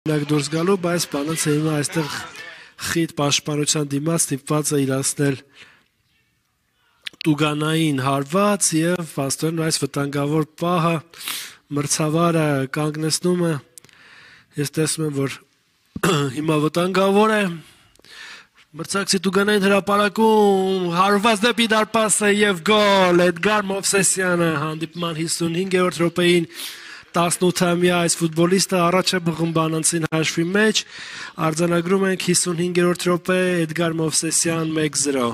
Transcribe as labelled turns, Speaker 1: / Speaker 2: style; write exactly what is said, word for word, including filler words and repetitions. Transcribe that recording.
Speaker 1: դուրս գալու, բայց Պանոցը հիմա այստեղ խիտ պաշտպանության դիմաց ստիպված է իրացնել տուգանային հարված եւ վաստորեն այս վտանգավոր պահը մրցավարը կանգնեցնում է։ Ես տեսնում եմ, որ հիմա վտանգավոր է մրցակցի տուգանային հրապարակում հարված դեպի դարպասը եւ գոլ Էդգար Մովսեսյանը հանդիպման հիսունհինգերորդ րոպեին տասնութամյա այս ֆուտբոլիստը առաջ է բղում Բանանցին հաշվի մեջ արձանագրում ենք հիսունհինգերորդ րոպե Էդգար Մովսեսյան մեկ զրո